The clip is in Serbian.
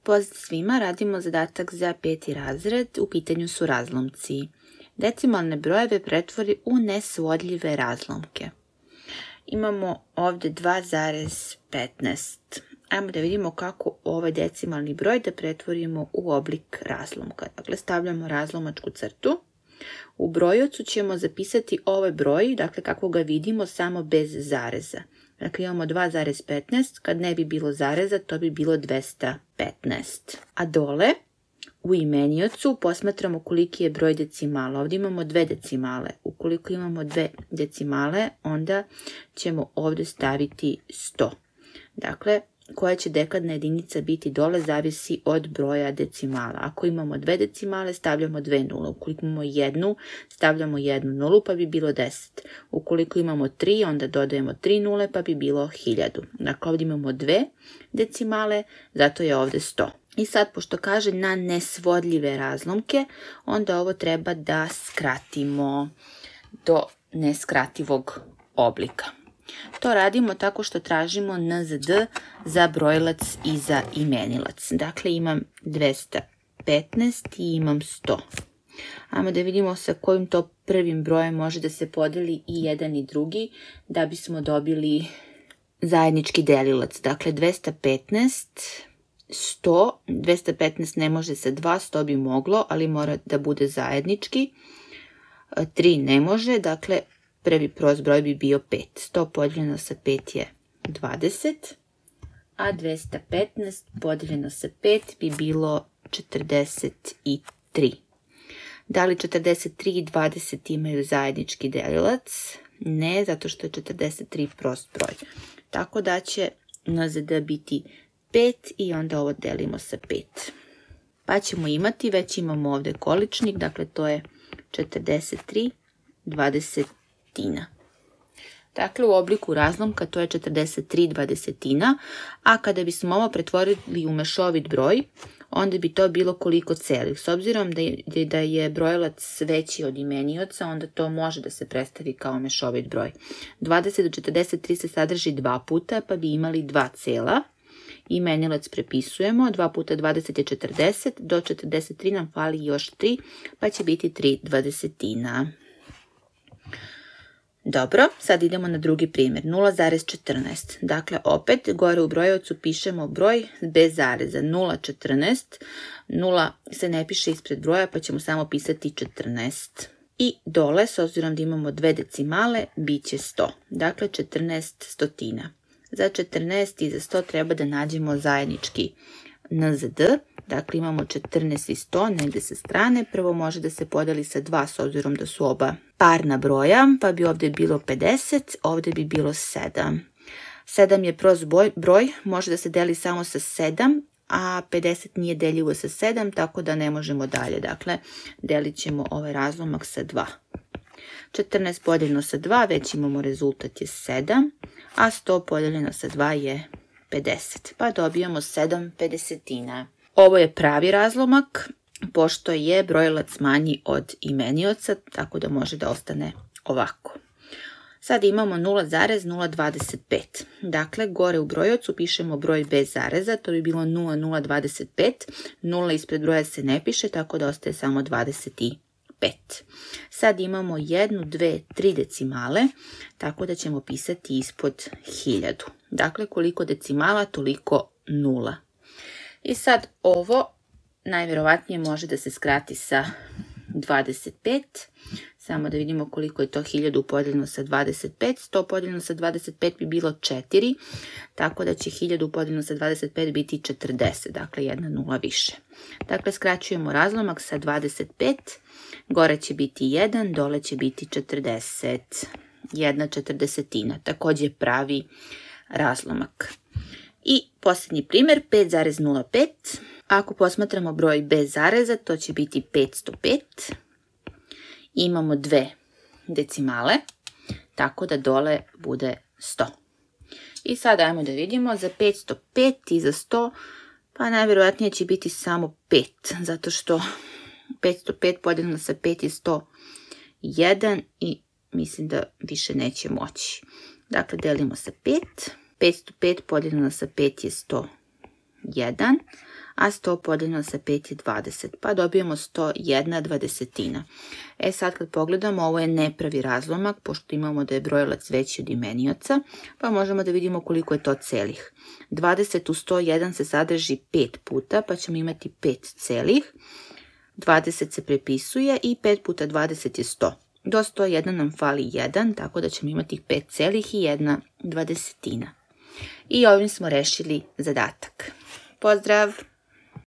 pozdrav svima, radimo zadatak za 5. razred, u pitanju su razlomci. Decimalne brojeve pretvori u nesvodljive razlomke. Imamo ovdje 2,15. Ajmo da vidimo kako ovaj decimalni broj da pretvorimo u oblik razlomka. Dakle, stavljamo razlomačku crtu. U brojocu ćemo zapisati ovaj broj, dakle kako ga vidimo, samo bez zareza. Dakle, imamo 2,15, kad ne bi bilo zareza, to bi bilo 215. A dole, u imeniocu, posmatramo koliki je broj decimala. Ovdje imamo 2 decimale. Ukoliko imamo 2 decimale, onda ćemo ovdje staviti 100. Dakle, koja će dekadna jedinica biti dole zavisi od broja decimala. Ako imamo 2 decimale, stavljamo 2 nule. Ukoliko imamo 1, stavljamo 1 nulu, pa bi bilo 10. Ukoliko imamo 3, onda dodajemo 3 nule, pa bi bilo 1000. Dakle, ovdje imamo 2 decimale, zato je ovdje 100. I sad, pošto kaže na nesvodljive razlomke, onda ovo treba da skratimo do neskrativog oblika. To radimo tako što tražimo NZD za brojilac i za imenilac. Dakle, imam 215 i imam 100. Ajmo da vidimo sa kojim to prvim brojem može da se podeli i jedan i drugi, da bismo dobili zajednički delilac. Dakle, 215, 100, 215 ne može sa 2, 100 bi moglo, ali mora da bude zajednički. 3 ne može, dakle, prvi prost broj bi bio 5. 100 podijeljeno sa 5 je 20, a 215 podijeljeno sa 5 bi bilo 43. Da li 43 i 20 imaju zajednički delilac? Ne, zato što je 43 prost broj. Tako da će NZD biti 5 i onda ovo delimo sa 5. Pa ćemo imati, već imamo ovdje količnik, dakle to je 43 dvadesetina. Dakle, u obliku razlomka to je 43 dvadesetina, a kada bismo ovo pretvorili u mešovit broj, onda bi to bilo koliko celih. S obzirom da je brojilac veći od imenioca, onda to može da se predstavi kao mešovit broj. 20 do 43 se sadrži 2 puta, pa bi imali 2 cela. Imenilac prepisujemo, 2 puta 20 je 40, do 43 nam fali još 3, pa će biti 3 dvadesetina. Dobro, sad idemo na drugi primjer, 0,14. Dakle, opet, gore u brojevcu pišemo broj bez zareza, 0,14. 0 se ne piše ispred broja, pa ćemo samo pisati 14. I dole, s obzirom da imamo 2 decimale, bit će 100. Dakle, 14 stotina. Za 14 i za 100 treba da nađemo zajednički NZD. Dakle, imamo 14 i 100 negdje sa strane. Prvo može da se podeli sa 2 s obzirom da su oba parna broja, pa bi ovdje bilo 50, ovdje bi bilo 7. 7 je prost broj, može da se deli samo sa 7, a 50 nije deljivo sa 7, tako da ne možemo dalje. Dakle, delit ćemo ovaj razlomak sa 2. 14 podijeljeno sa 2, već imamo rezultat je 7, a 100 podijeljeno sa 2 je 50, pa dobijamo 7 pedesetina. Ovo je pravi razlomak, pošto je brojilac manji od imenioca, tako da može da ostane ovako. Sad imamo 0,025. Dakle, gore u brojocu pišemo broj bez zareza, to bi bilo 0,025. 0 ispred broja se ne piše, tako da ostaje samo 25. Sad imamo 1, 2, 3 decimale, tako da ćemo pisati ispod 1000. Dakle, koliko decimala, toliko nula. I sad ovo najvjerovatnije može da se skrati sa 25. Samo da vidimo koliko je to 1000 podijeljeno sa 25. 100 podijeljeno sa 25 bi bilo 4. Tako da će 1000 podijeljeno sa 25 biti 40. Dakle, 1 nula više. Dakle, skraćujemo razlomak sa 25. Gore će biti 1, dole će biti 40. 1/40. Također pravi razlomak. I posljednji primjer, 5,05. Ako posmatramo broj bez zareza, to će biti 505. Imamo 2 decimale, tako da dole bude 100. I sad ajmo da vidimo za 505 i za 100, pa najvjerojatnije će biti samo 5, zato što 505 podijeljeno sa 5 je 101 i mislim da više neće moći. Dakle, delimo sa 5. 505 podijeljeno sa 5 je 101, a 100 podijeljeno sa 5 je 20, pa dobijemo 101/20. Sad kad pogledamo, ovo je nepravi razlomak, pošto imamo da je brojilac veći od imenioca, pa možemo da vidimo koliko je to celih. 20 u 101 se sadrži 5 puta, pa ćemo imati 5 celih. 20 se prepisuje i 5 puta 20 je 100. Do 101 nam fali 1, tako da ćemo imati 5 celih i 1/20. I ovim smo rešili zadatak. Pozdrav!